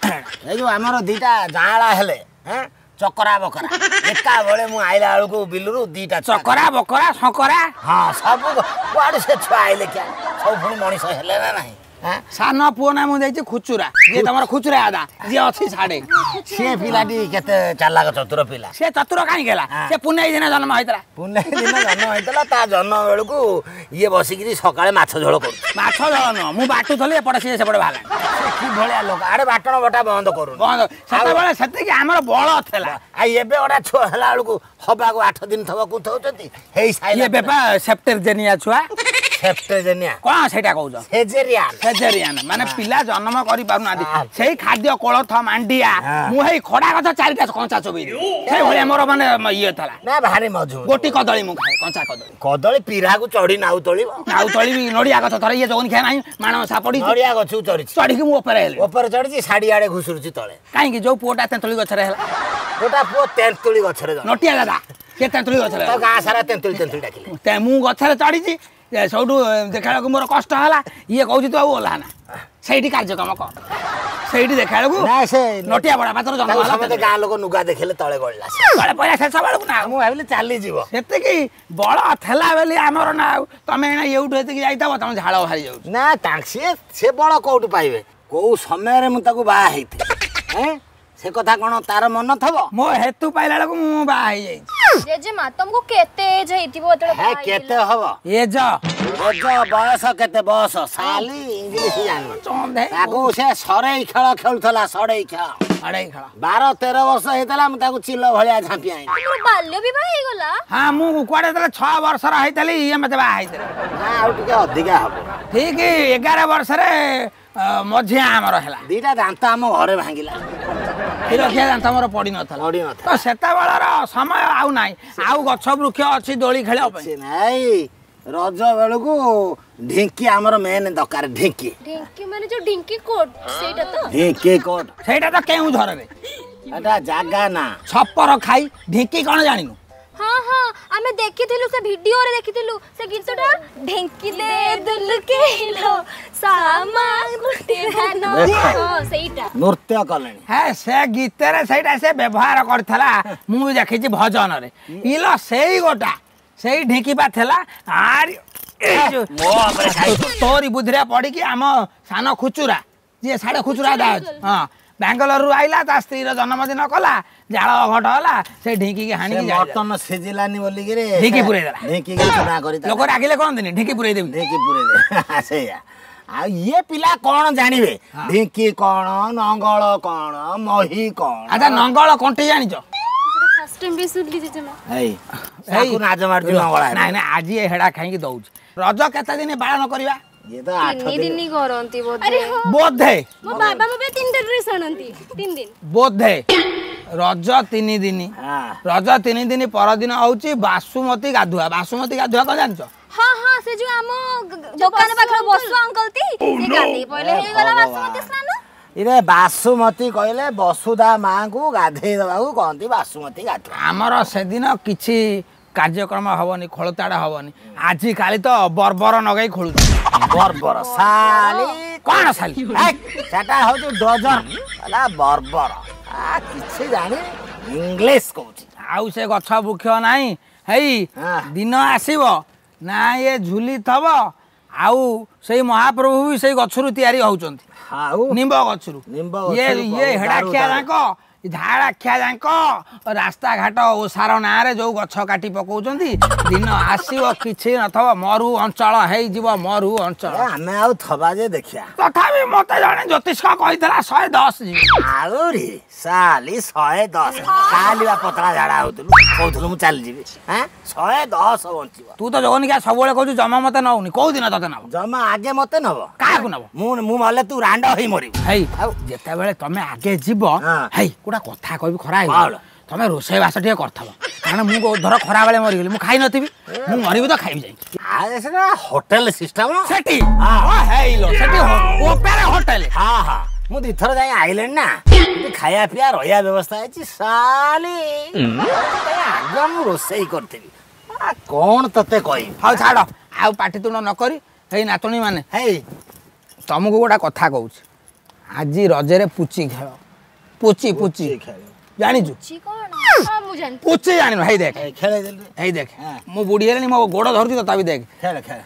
ଏଇ ଯୋଉ ଆମର ଦିଟା ଯାଆଁଳା ହେଲେ, ହେଁ ଚକରା ବକରା ଏକା ବେଳେ, ମୁଁ ଆଇଲା ବେଳକୁ ବିଲରୁ ଦିଟା ଛୁଆ। ଚକରା ବକରା ଶଙ୍କରା। ହଁ, ସବୁ କୁଆଡୁ ସେ ଛୁଆ ଆଇଲେ କିଆ, ସବୁ ପୁଣି ମଣିଷ ହେଲେ ନା ନାହିଁ? ସାନ ପୁଅ ନା ମୁଁ ଦେଇଛି ଖୁଚୁରା, ଯିଏ ତମର ଖୁଚୁରା ଆଦା ଯିଏ ଅଛି ସାଡେ। ସେ ପିଲାଟି କେତେ ଚାଲାକ ଚତୁର ପିଲା। ସେ ଚତୁର କାହିଁକି ହେଲା? ସେ ପୁନେଇ ଦିନ ଜନ୍ମ ହେଇଥିଲା। ପୁନେଇ ଦିନ ଜନ୍ମ ହେଇଥିଲା, ତା ଜନ୍ମ ବେଳକୁ ଇଏ ବସିକିରି ସକାଳେ ମାଛ ଝୋଳ କରୁଛି। ମାଛ ଝୋଳ ନୁହଁ, ମୁଁ ବାଟୁଥିଲି ଏପଟେ, ସିଏ ସେପଟେ ବାହାରିଲା। କି ଭଳିଆ ଲୋକ, ଆଡେ ବାଟଣ ବଟା ବନ୍ଦ କରୁ ବନ୍ଦ। ସେତେବେଳେ ସେତିକି ଆମର ବଳ ଥିଲା। ଆଉ ଏବେ ଗୋଟା ଛୁଆ ହେଲା ବେଳକୁ ହବାକୁ ଆଠ ଦିନ ଥବ କୁନ୍ଥଉଛନ୍ତି ହେଇ ସାଇଲା। ଏବେ ପା ସେପ୍ଟେଜେନିଆ ଛୁଆ। ସେପ୍ଟେଜେନିଆ କଣ ସେଇଟା କହୁଛ? ସେଜେରିଆନ। ସେଜେରିଆନ ମାନେ ପିଲା ଜନ୍ମ କରିପାରୁନାହାନ୍ତି। ସେଇ ଖାଦ୍ୟ କୋଳଥ ମାଣ୍ଡିଆ, ମୁଁ ହେଇ ଖଡା ଗଛ ଚାରିଟା କଞ୍ଚା ଚୋବେଇ, ସେଇ ଭଳିଆ ମୋର ମାନେ ଇଏ ଥିଲା ନା ଭାରି ମଜବୁତ। ଗୋଟି କଦଳୀ ମୁଁ ଖାଏ, କଞ୍ଚା କଦଳୀ। କଦଳୀ ପିରାକୁ ଚଢି ନାଉ ତଳିବ, ନାଉ ତଳିବି। ନଡିଆ ଗଛ ଥରେ ଇଏ ଯୋଉନି ଖିଆ ନାହିଁ, ମାଣବସା ପଡିଛି, ନଡିଆ ଗଛକୁ ଚଢିଛି, ଚଢିକି ମୁଁ ଉପରେ ହେଲି, ଉପରେ ଚଢିଛି, ଶାଢୀ ଆଡେ ଘୁଷୁରୁଛି ତଳେ। କାହିଁକି? ଯୋଉ ପୁଅଟା ତେନ୍ତୁଳି ଗଛରେ ହେଲା, ଗୋଟା ପୁଅ ତେନ୍ତୁଳି ଗଛରେ, ନଟିଆ ଦାଦା, ସେ ତେନ୍ତୁଳି ଗଛରେ, ଗାଁ ସାରା ତେନ୍ତୁଳି ତେନ୍ତୁଳି ଡାକିଲେ। ମୁଁ ଗଛରେ ଚଢିଛି, ସେଇଠୁ ଦେଖିଲା ବେଳକୁ ମୋର କଷ୍ଟ ହେଲା। ଇଏ କହୁଛି ତୁ ଆଉ ଓହ୍ଲା ନା, ସେଇଠି କାର୍ଯ୍ୟକ୍ରମ କର। ସେଇଠି ଦେଖିଲା ବେଳକୁ ନଟିଆ ବଡ ପାତ୍ର ଜନ୍ମ ହେଲା। ଗାଁ ଲୋକ ନୁଗା ଦେଖିଲେ ତଳେ ଗଳିଲା, ତଳେ ପଇଲା ଶେଷ ବେଳକୁ ନା ମୁଁ ଭାବିଲି ଚାଲିଯିବ। ସେତିକି ବଳ ଥିଲା ବୋଲି ଆମର ନା। ଆଉ ତମେ ଏଇନା ଏଇଠୁ ଏତିକି ଯାଇଥିବ, ତମ ଝାଳ ବାହାରି ଯାଉଛି ନା। ସିଏ ସେ ବଳ କୋଉଠୁ ପାଇବେ? କୋଉ ସମୟରେ ମୁଁ ତାକୁ ବାହା ହେଇଥିଲି ସେ କଥା କଣ ତାର ମନ ଥବ? ମୋ ହେତୁ ପାଇଲା ବେଳକୁ ମୁଁ ବାହା ହେଇଯାଇଛି। ଜେଜେମା, ତମକୁ କେତେ ଏଜ ହେଇଥିବ ଯେତେବେଳେ? କେତେ ହବ ଏଜ? ଏଜ ବୟସ କେତେ? ବୟସ ସାଲି ଇଂଲିଶ ଜାଣିନି ତାକୁ। ସେ ସରେଇ ଖେଳ ଖେଳୁଥିଲା, ସରେଇ ଖେଳ, ସରେଇ ଖେଳ। ବାର ତେର ବର୍ଷ ହେଇଥିଲା, ମୁଁ ତାକୁ ଚିଲ ଭଳିଆ ଝାମ୍ପି ଆଣିଲି। ବାଲ୍ୟ ବିବାହ ହେଇଗଲା? ହଁ, ମୁଁ କୁଆଡେ ଯେତେବେଳେ ଛଅ ବର୍ଷର ହେଇଥିଲି ଇଏ ମତେ ବାହା ହେଇଥିଲେ। ନା, ଆଉ ଟିକେ ଅଧିକା ହବ। ଠିକ ଏଗାର ବର୍ଷରେ ମଝିଆ ଆମର ହେଲା। ଦିଟା ଦାନ୍ତ ଆମ ଘରେ ଭାଙ୍ଗିଲା, କ୍ଷୀରଖିଆ ଦାନ୍ତ ମୋର ପଡିନଥିଲା। ତ ସେତେବେଳର ସମୟ ଆଉ ନାହିଁ। ଆଉ ଗଛ ବୃକ୍ଷ ଅଛି ଦୋଳି ଖେଳିବା ପାଇଁ? ନାଇଁ। ରଜ ବେଳକୁ ଢିଙ୍କି ଆମର ମେନ୍ ଦରକାର। ଢିଙ୍କି, ଢିଙ୍କି ମାନେ ଯୋଉ ଢିଙ୍କି କୋଟ ସେଇଟା ତ? ଢିଙ୍କି କୋଟ ସେଇଟା ତ କେଉଁଝରରେ, ଏଟା ଜାଗା ନା। ଛପର ଖାଇ ଢିଙ୍କି କଣ ଜାଣିନୁ? ହଁ ହଁ, ଆମେ ଦେଖିଥିଲୁ, ସେ ଭିଡିଓରେ ଦେଖିଥିଲୁ ସେ ଗୀତଟା, ଢେଙ୍କି ଦେ ଦୁଲକେଇଲୋ ସାମା ଗୁଟେ ଧାନ, ହଁ ସେଇଟା ନୃତ୍ୟ କଲେଣି। ହେ, ସେ ଗୀତରେ ସେଇଟା ସେ ବ୍ୟବହାର କରିଥିଲା, ମୁଁ ବି ଦେଖିଛି ଭଜନରେ। ଇଲ ସେଇ ଗୋଟା ସେଇ ଢିଙ୍କି ପା ଥିଲା। ଆରି ତୋରି ବୁଦ୍ଧିରେ ପଡ଼ିକି ଆମ ସାନ ଖୁଚୁରା ଯିଏ ସାଢ଼େ ଖୁଚୁରା ଅଛି, ହଁ, ବାଙ୍ଗାଲୋରରୁ ଆଇଲା, ତା ସ୍ତ୍ରୀର ଜନ୍ମଦିନ କଲା, ଜାଳ ଘଟ ହେଲା, ସେ ଢିଙ୍କିକି ହାଣିକି ମଟନ ସିଝିଲାନି ବୋଲିକିରି ଢିଙ୍କି ପୁରେଇ ଦେଲା। ଢିଙ୍କିକି ଚୁନା କରି ଲୋକ ରାଗିଲେ କହନ୍ତିନି ଢିଙ୍କି ପୁରେଇ ଦେବି, ଢିଙ୍କି ପୁରେଇ ଦେ, ସେଇଆ। ଆଉ ଇଏ ପିଲା କଣ ଜାଣିବେ ଢିଙ୍କି କଣ, ନଙ୍ଗଳ କଣ, ମହି କଣ? ଆଚ୍ଛା, ନଙ୍ଗଳ କଣ୍ଟି ଜାଣିଛ? ନାଜ ମାରୁଛି ନଙ୍ଗଳ। ନାଇଁ ନାଇଁ, ଆଜି ଏ ହେଡ଼ା ଖାଇକି ଦଉଛି। ରଜ କେତେ ଦିନ ପାଳନ କରିବା? ତିନି ଦିନ କରନ୍ତି ବୋଧେ। ବୋଧେ ମୋ ବାବା ମୋ ପାଇଁ ତିନିଟା ଡ୍ରେସ୍ ଆଣନ୍ତି ତିନି ଦିନ ବୋଧେ। ରଜ ତିନି ଦିନ, ରଜ ତିନି ଦିନ ପରଦିନ ହଉଛି ବାସୁମତୀ ଗାଧୁଆ। ବାସୁମତୀ ଗାଧୁଆ କଣ ଜାଣିଛ? ହଁ ହଁ, ସେ ଯୋଉ ଆମ ଦୋକାନ ପାଖରେ ବସୁ ଅଙ୍କଲ ତି, ସେ ଗାଧେଇ ପଇଲେ ହେଇଗଲା ବାସୁମତୀ ସ୍ନାନ। ଇରେ ବାସୁମତୀ କହିଲେ ବସୁଧା ମାଙ୍କୁ ଗାଧେଇ ଦେବାକୁ କହନ୍ତି ବାସୁମତୀ ଗାଧୁଆ। ଆମର ସେଦିନ କିଛି କାର୍ଯ୍ୟକ୍ରମ ହବନି, ଖୋଳତାଡ଼ ହବନି। ଆଜିକାଲି ତ ବର୍ବର ନଗେଇ ଖୋଳୁଛି। ବର୍ବର ଶାଲି କଣ ଶାଲି? ସେଟା ହଉଛି ଡଜର ହେଲା ବର୍ବର। କିଛି ଜାଣି ଇଂଲିଶ କହୁଛି। ଆଉ ସେ ଗଛ ବୃକ୍ଷ ନାହିଁ। ହେଇ ଦିନ ଆସିବ ନା ଇଏ ଝୁଲି ଥବ। ଆଉ ସେଇ ମହାପ୍ରଭୁ ବି ସେଇ ଗଛରୁ ତିଆରି ହଉଛନ୍ତି, ଆଉ ନିମ୍ବ ଗଛରୁ। ନିମ୍ବ ଇଏ ଇଏ ହେଡ଼ାଖିଆ ଯାକ, ଝାଡ଼ାଖିଆ ଯାକ ରାସ୍ତାଘାଟ ଓସାର ନାଁରେ ଯୋଉ ଗଛ କାଟି ପକଉଛନ୍ତି, ଦିନ ଆସିବ କିଛି ନଥବ, ମରୁ ଅଞ୍ଚଳ ହେଇଯିବ, ମରୁ ଅଞ୍ଚଳ। ଆମେ ଆଉ ଥବା ଯେ ଦେଖିବା। ତଥାପି ମତେ ଜଣେ ଜ୍ୟୋତିଷ କହିଥିଲା ଶହେ ଦଶ ଯିବି। ଆହୁରି ସାଲି ଶହେ ଦଶ? କାଲି ବା ପତଳା ଝାଡ଼ା ହଉଥିଲୁ, କହୁଥିଲୁ ମୁଁ ଚାଲିଯିବି। ଶହେ ଦଶ ବଞ୍ଚିବ? ତୁ ତ ଜଗନିକା ସବୁବେଳେ କହୁଛୁ ଜମା ମତେ ନଉନି, କୋଉ ଦିନ ତତେ ନବ? ଜମା ଆଗେ ମତେ ନବ। କାହାକୁ ନବ? ମୁଁ ମୁଁ ମଲେ ତୁ ରାଣ୍ଡ ହେଇ ମରିବୁ। ହେଇ, ଆଉ ଯେତେବେଳେ ତମେ ଆଗେ ଯିବ, ହେଇ ଗୋଟା କଥା କହିବି, ଖରା ହେଇଗଲା, ତମେ ରୋଷେଇ ବାସ ଟିକେ କରିଥବ, କାରଣ ମୁଁ ଧର ଖରାବେଳେ ମରିଗଲି, ମୁଁ ଖାଇ ନଥିବି। ମୁଁ ମରିବି ତ ଖାଇବି ଯାଇକି। ସେଟା ହୋଟେଲ ସିଷ୍ଟମ ସେଠି ହେଇଲୋ, ସେଠି ଉପରେ ହୋଟେଲ। ହଁ ହଁ, ମୁଁ ଦିଥର ଯାଇ ଆଇଲେଣି ନା, ଖାଇବା ପିଇବା ରହିବା ବ୍ୟବସ୍ଥା ହେଇଛି। ସାଲି ଆଗ ମୁଁ ରୋଷେଇ କରିଥିବି, କଣ ତତେ କହିବି। ହଉ ଛାଡ଼, ଆଉ ପାଟିତୁଣ୍ଡ ନ କରି। ହେଇ ନାତୁଣୀ ମାନେ, ହେଇ ତମକୁ ଗୋଟା କଥା କହୁଛି। ଆଜି ରଜରେ ପୁଚି ଖେଳ। ପୁଚି, ପୁଚି ଜାଣିଛୁ? ପୁଚି ଜାଣିନୁ? ହେଇ ଦେଖ, ହେଇ ଦେଖ, ମୁଁ ବୁଢୀ ହେଲିଣି, ମୋ ଗୋଡ଼ ଧରୁଛି, ତଥାପି ଦେଖ। ଖେଳ ଖେଳ।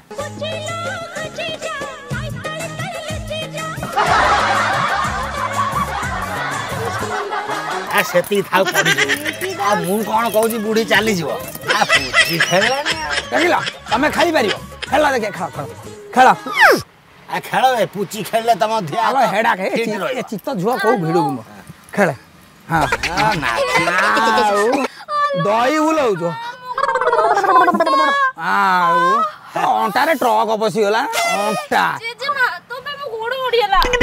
ଆ ସେତିକି ଥାଉ ପଡ଼ିଯିବ। ଆଉ ମୁଁ କ'ଣ କହୁଛି, ବୁଢ଼ୀ ଚାଲିଯିବ, ଆ ପୁଚି ଖେଳିଲାଣି। ଦେଖିଲ, ତମେ ଖାଇପାରିବ? ଖେଳ ଦେଖିଆ, ଖେଳ ଖେଳ ଖେଳ। ଆ ଖେଳ ଏ ପୁଚି ଖେଳିଲେ ତମ ଧିଆ ଆଲୋ ହେଡା ଏ ଚିତ୍ତ ଝୁଅ କୋଉ ଭିଡୁକୁ ମୁଁ ଖେଳେ। ହଁ, ଆଉ ଦହି ବୁଲଉଛ, ଆଉ ଅଣ୍ଟାରେ ଟ୍ରକ ପଶିଗଲା ଅଣ୍ଟା।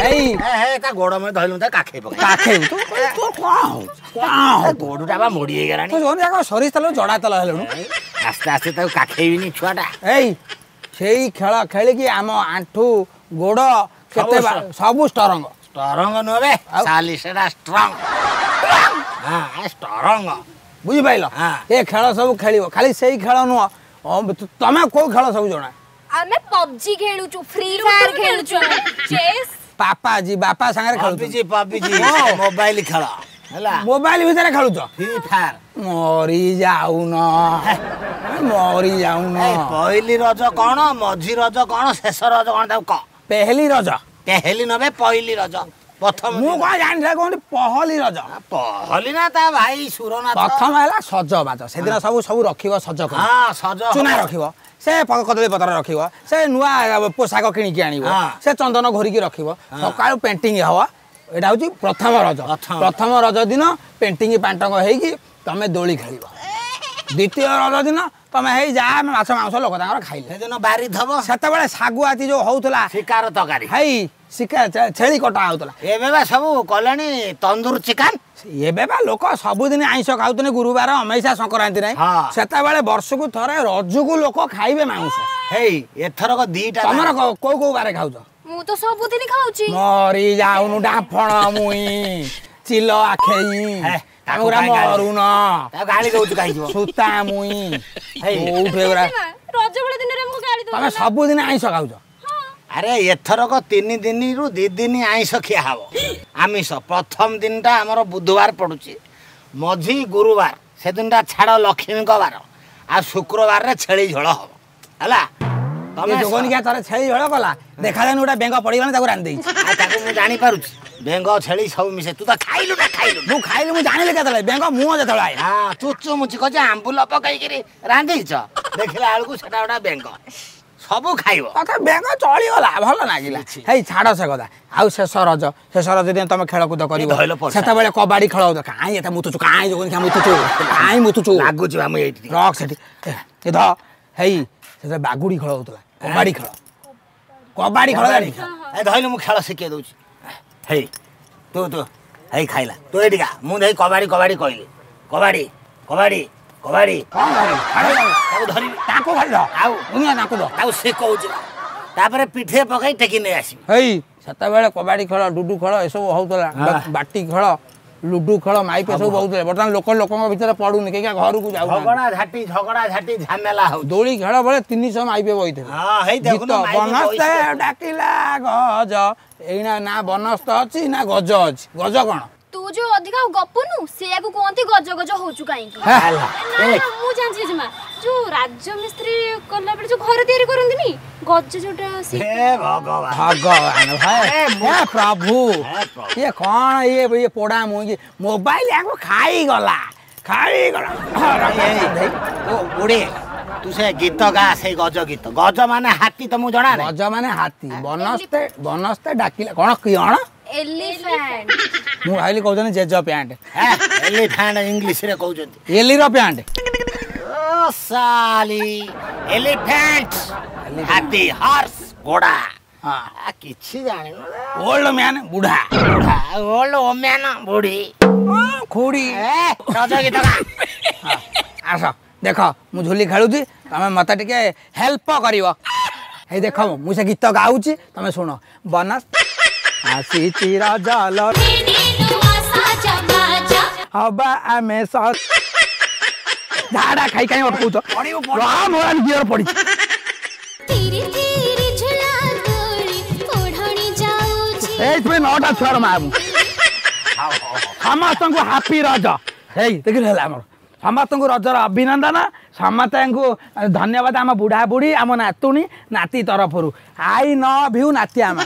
ଏଇ ତା ଗୋଡ ମୁଁ ଧଇଲୁ, ତା କାଖେଇ ପକେଇ କାଖେଇବୁ ତୁ। ତୋର କଣ ହଉଛି? କଣ ଗୋଡଟା ବା ମୋଡି ହେଇଗଲାଣି। ତୁ ଯାକ ସୋରିଷ ତେଲ ଜଡା ତେଲ ହେଲୁଣୁ। ଆସ୍ତେ ଆସ୍ତେ ତାକୁ କାଖେଇବିନି ଛୁଆଟା। ଏଇ ସେଇ ଖେଳ ଖେଳିକି ଆମ ଆଣ୍ଠୁ ଗୋଡ କେତେ ସବୁ ଷ୍ଟ୍ରଙ୍ଗ। ଷ୍ଟ୍ରଙ୍ଗ ନୁହେଁ ବେ ସାଲି, ସେଟା ଷ୍ଟ୍ରଙ୍ଗ। ହଁ, ଷ୍ଟ୍ରଙ୍ଗ, ବୁଝିପାରିଲ? ଏ ଖେଳ ସବୁ ଖେଳିବ, ଖାଲି ସେଇ ଖେଳ ନୁହଁ। ତମେ କୋଉ ଖେଳ ସବୁ ଜଣା? ଆମେ ପବଜି ଖେଳୁଛୁ, ଫ୍ରି ଫାୟାର ଖେଳୁଛୁ, ଚେସ୍। ପାପାଜି ବାପା ସାଙ୍ଗରେ ଖେଳୁଛୁ? ପବଜି, ପବଜି ମୋବାଇଲ ଖେଳ ହେଲା। ମୋବାଇଲ ଭିତରେ ଖେଳୁଛ ଫ୍ରି ଫାୟାର? ମରି ଯାଉନ, ମରି ଯାଉନ। ପହିଲି ରଜ କଣ, ମଝି ରଜ କଣ, ଶେଷ ରଜ କଣ, ତାକୁ କହ। ପେହେଲି ରଜ? ପେହେଲି ନବେ, ପହିଲି ରଜ ପ୍ରଥମ। ମୁଁ କଣ ଜାଣିଥିଲା କହନ୍ତି ପହଲି ରଜ? ପହଲି ନା ତା ଭାଇ ସୁରନାଥ। ପ୍ରଥମ ହେଲା ସଜବାଜ। ସେଦିନ ସବୁ ସବୁ ରଖିବ ସଜ କରି, ସଜ ଚୁନା ରଖିବ, ସେ କଦଳୀ ପତ୍ର ରଖିବ, ସେ ନୂଆ ପୋଷାକ କିଣିକି ଆଣିବ, ସେ ଚନ୍ଦନ ଘୋରିକି ରଖିବ, ସକାଳୁ ପେଣ୍ଟିଂ ହବ। ଏଇଟା ହଉଛି ପ୍ରଥମ ରଜ। ପ୍ରଥମ ରଜ ଦିନ ପେଣ୍ଟିଂ ପାଣ୍ଟଙ୍ଗ ହେଇକି ତମେ ଦୋଳି ଖେଳିବ। ଦ୍ୱିତୀୟ ରଜ ଦିନ ତମେ ହେଇ ଯାହା ମାଛ ମାଂସ ଲୋକ ତାଙ୍କର ଖାଇଲେ। ସେଦିନ ବାରି ଥବ। ସେତେବେଳେ ଶାଗୁଆତି ଯୋଉ ହଉଥିଲା, ଶିକାର ତରକାରୀ ହେଇ ଶିକାର ଛେଳି କଟା ହଉଥିଲା। ଏବେ ବା ସବୁ କଲେଣି ତନ୍ଦୁର ଚିକେନ। ଏବେ ବା ଲୋକ ସବୁଦିନ ଆଇଁଷ ଖାଉଛନ୍ତି, ଗୁରୁବାର ଅମେଇସା ସଂକ୍ରାନ୍ତି ନାହିଁ। ସେତେବେଳେ ବର୍ଷକୁ ଥରେ ରଜକୁ ଲୋକ ଖାଇବେ ମାଉଁସ। ହେଇ ଏଥରକ ଦିଟା। ତମର କୋଉ କୋଉ ବାରେ ଖାଉଛ? ମୁଁ ତ ସବୁଦିନ ଖାଉଛି। ମରି ଯାଉନୁ ଡାଫଣ ମୁଇଁ ଚିଲ ଆଖେଇ ମରୁନ ଗାଳି ଦଉଛୁ କାହିଁକି? ସୂତା ମୁଇଁ କୋଉଠୁ ଏଗୁରା? ରଜ ଭଳି ଦିନରେ ଆମକୁ ଗାଳି ତମେ ସବୁଦିନ ଆଇଁଷ ଖାଉଛ? ଆରେ ଏଥରକ ତିନି ଦିନରୁ ଦି ଦିନ ଆଇଁଷ ଖିଆ ହବ, ଆମିଷ। ପ୍ରଥମ ଦିନଟା ଆମର ବୁଧବାର ପଡୁଛି, ମଝି ଗୁରୁବାର, ସେଦିନଟା ଛାଡ଼ ଲକ୍ଷ୍ମୀଙ୍କ ବାର, ଆଉ ଶୁକ୍ରବାରରେ ଛେଳି ଝୋଳ ହବ। ହେଲା, ତମେ ଯୋଗନିକା ଥରେ ଛେଳି ଝୋଳ କଲା, ଦେଖାଯାଉନି ଗୋଟେ ବେଙ୍ଗ ପଡ଼ିଗଲାଣି, ତାକୁ ରାନ୍ଧି ଦେଇଛି। ତାକୁ ମୁଁ ଜାଣିପାରୁଛି, ବେଙ୍ଗ ଛେଳି ସବୁ ମିଶେ। ତୁ ତ ଖାଇଲୁ ନା? ଖାଇଲୁ? ମୁଁ ଖାଇଲି, ମୁଁ ଜାଣିଲି କେତେବେଳେ ବେଙ୍ଗ ମୁହଁ ଯେତେବେଳେ ଆଇଲା। ହଁ, ଚୁଚୁ ମୁଚି କହୁଛି ଆମ୍ବୁଲ ପକେଇକିରି ରାନ୍ଧିଛ, ଦେଖିଲା ବେଳକୁ ସେଟା ଗୋଟେ ବେଙ୍ଗ। ସବୁ ଖାଇବ। ତଥାପି ବେଙ୍ଗ ଚଳିଗଲା, ଭଲ ଲାଗିଲା। ହେଇ ଛାଡ଼ ସେ କଥା। ଆଉ ଶେଷ ରଜ, ଶେଷ ରଜ ଦିନ ତମେ ଖେଳକୁଦ କରିବ। ସେତେବେଳେ କବାଡି ଖେଳ ହଉଥିଲା। କାଇଁ ଏତେ ମୁତୁଛୁ? କାଇଁ ଯୋଗୁନି ମୁତୁଛୁ? କାଇଁ ମୁତୁଛୁ? ଲାଗୁଛି ବା ମୁଁ ଏଇଠି ରଖ ସେଠି ଏ ଧ। ହେଇ ସେତେବେଳେ ବାଗୁଡି ଖେଳ ହଉଥିଲା, କବାଡି ଖେଳ, କବାଡି ଖେଳ ଜାଣିଛ? ଏ ଧଇଲୁ, ମୁଁ ଖେଳ ଶିଖେଇ ଦଉଛି। ହେଇ ତୁ ତୁ ହେଇ ଖାଇଲା, ତୁ ଏଇଠିକା। ମୁଁ ଦେଇ କବାଡି କବାଡି କହିଲି, କବାଡି କବାଡି କବାଡି। ତାକୁ ଧରିବି, ତାକୁ ଖାଲି ଆଉ ତାକୁ ତାକୁ ଶିଖଉଛି, ତାପରେ ପିଠିରେ ପକେଇ ଟେକି ନେଇ ଆସିବି। ହେଇ ସେତେବେଳେ କବାଡି ଖେଳ, ଡୁଡୁ ଖେଳ ଏସବୁ ହଉଥିଲା, ବାଟି ଖେଳ, ଲୁଡୁ ଖେଳ, ମାଇପ ସବୁ ହଉଥିଲେ। ବର୍ତ୍ତମାନ ଲୋକ ଲୋକଙ୍କ ଭିତରେ ପଡୁନି, କେହି ଘରକୁ ଯାଉ। ଝଗଡ଼ା ଝାଟି, ଝଗଡ଼ା ଝାଟି ଝାମେଲା ହଉ। ଦୋଳି ଖେଳ ବେଳେ ତିନିଶହ ମାଇପେ ବହିଥିଲେ। ବନସ୍ତେ ଡାକିଲା ଗଜ। ଏଇନା ନା ବନସ୍ତ ଅଛି ନା ଗଜ ଅଛି। ଗଜ କଣ? ତୁ ଯୋଉ ଅଧିକା ଗପୁନୁ, ସେଇଆକୁ କୁହନ୍ତି ଗଜ ଗଜ ହଉଛୁ କାହିଁକି। ମୁଁ ଜାଣିଛି ଜେଜେମା, ଯୋଉ ରାଜମିସ୍ତ୍ରୀ କଲା ବେଳେ ଯୋଉ ଘର ତିଆରି କରନ୍ତିନି, ଗଜ ଯୋଉଟା। ଭଗବାନ, ଭଗବାନ ପ୍ରଭୁ, ଇଏ କଣ? ଇଏ ଇଏ ପୋଡା ମୁଇଁ ମୋବାଇଲ ଆକୁ ଖାଇଗଲା, ଖାଇଗଲା। ବୁଢ଼ୀ, ତୁ ସେ ଗୀତ ଗା, ସେଇ ଗଜ ଗୀତ। ଗଜ ମାନେ ହାତୀ, ତମକୁ ଜଣା? ଗଜ ମାନେ ହାତୀ। ବନସ୍ତେ ବନସ୍ତେ ଡାକିଲା କଣ କିଅଣ? ଏଲିଫାଣ୍ଟ। ମୁଁ ଭାବିଲି କହୁଛନ୍ତି ଜେଜ ପ୍ୟାଣ୍ଟ। ଏଲିଫାଣ୍ଟ ଇଂଲିଶରେ କହୁଛନ୍ତି। ଏଲିର ପ୍ୟାଣ୍ଟ। ସାଲି, ଏଲିଫାଣ୍ଟ ହାତୀ, ହର୍ସ ଘୋଡ଼ା। କିଛି ଜାଣିନୁ। ଓଲ୍ଡ ମ୍ୟାନ୍ ବୁଢା। ବୁଢା, ଓଲ୍ଡ ଓମ୍ୟାନ ବୁଢୀ, ଖୁଡି। ରଜ ଗୀତ ଗା। ଆସ ଦେଖ, ମୁଁ ଝୁଲି ଖେଳୁଛି, ତମେ ମତେ ଟିକେ ହେଲ୍ପ କରିବ। ହେଇ ଦେଖ, ମୁଁ ସେ ଗୀତ ଗାଉଛି, ତମେ ଶୁଣ। ବନ ଆସିଛି ରଜ ହବା ଆମେ ଝାଡା ଖାଇ କାଇଁ ଅଟକଉଛ? ଗିଅର ପଡିଛି। ଏଇଥିପାଇଁ ନଅଟା ଛୁଆର ମା ମୁଁ। ସମସ୍ତଙ୍କୁ ହାପି ରଜ। ହେଇ ଦେଖିଲୁ, ହେଲା ଆମର ସମସ୍ତଙ୍କୁ ରଜର ଅଭିନନ୍ଦନ, ସମସ୍ତଙ୍କୁ ଧନ୍ୟବାଦ ଆମ ବୁଢ଼ା ବୁଢ଼ୀ, ଆମ ନାତୁଣୀ ନାତି ତରଫରୁ। I love you ନାତି। ଆମ